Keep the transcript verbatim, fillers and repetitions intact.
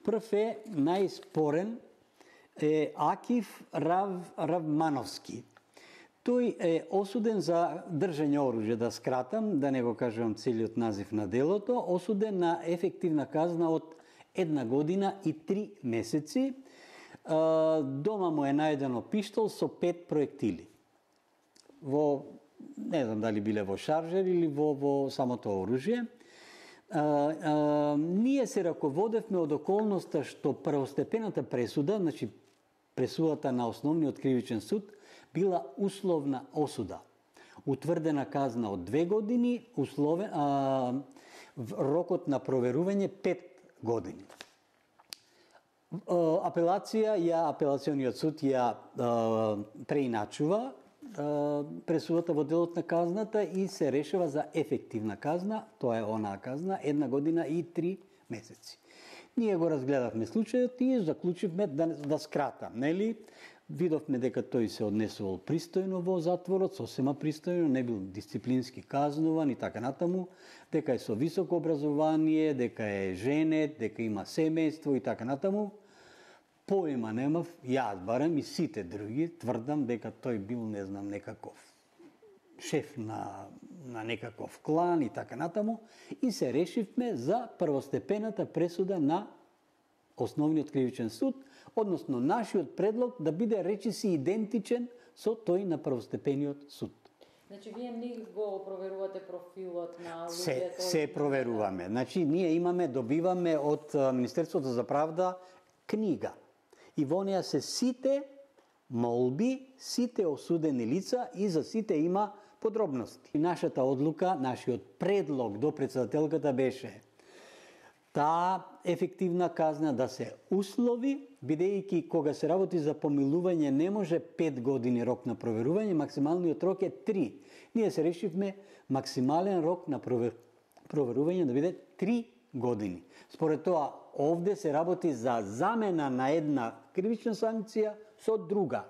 Прв е најспорен е Акиф Рав, Равмановски. Тој е осуден за држање оружје, да скратам, да не го кажувам целиот назив на делото, осуден на ефективна казна од една година и три месеци. Дома му е најдено пиштол со пет проектили. Во, не знам дали биле во шаржер или во, во самото оружје. А, а, ние се раководевме од околноста што првостепената пресуда, значи пресудата на основниот кривичен суд, била условна осуда. Утврдена казна од две години, условен, а, рокот на проверување пет години. Апелација, ја, апелациониот суд ја а, преиначува а, пресудата во делот на казната и се решава за ефективна казна, тоа е онаа казна, една година и три месеци. Ние го разгледавме случајот и заклучивме да, да скратам, нели? Видовме дека тој се однесувал пристојно во затворот, сосема пристојно, не бил дисциплински казнуван и така натаму, дека е со високо образование, дека е женет, дека има семејство и така натаму. Поема немав, јас барем и сите други, тврдам дека тој бил, не знам, некаков шеф на, на некаков клан и така натаму, и се решивме за првостепената пресуда на Основниот кривичен суд, односно нашиот предлог да биде речиси идентичен со тој на првостепениот суд. Значи, вие не го проверувате профилот на луѓето? Се, се проверуваме. Значи, ние имаме, добиваме од Министерството за правда книга. И во неја се сите молби, сите осудени лица и за сите има подробности. И нашата одлука, нашиот предлог до председателката беше таа ефективна казна да се услови, бидејќи кога се работи за помилување не може пет години рок на проверување, максималниот рок е три. Ние се решивме максимален рок на провер... проверување да биде три години. Според тоа, овде се работи за замена на една кривична санкција со друга.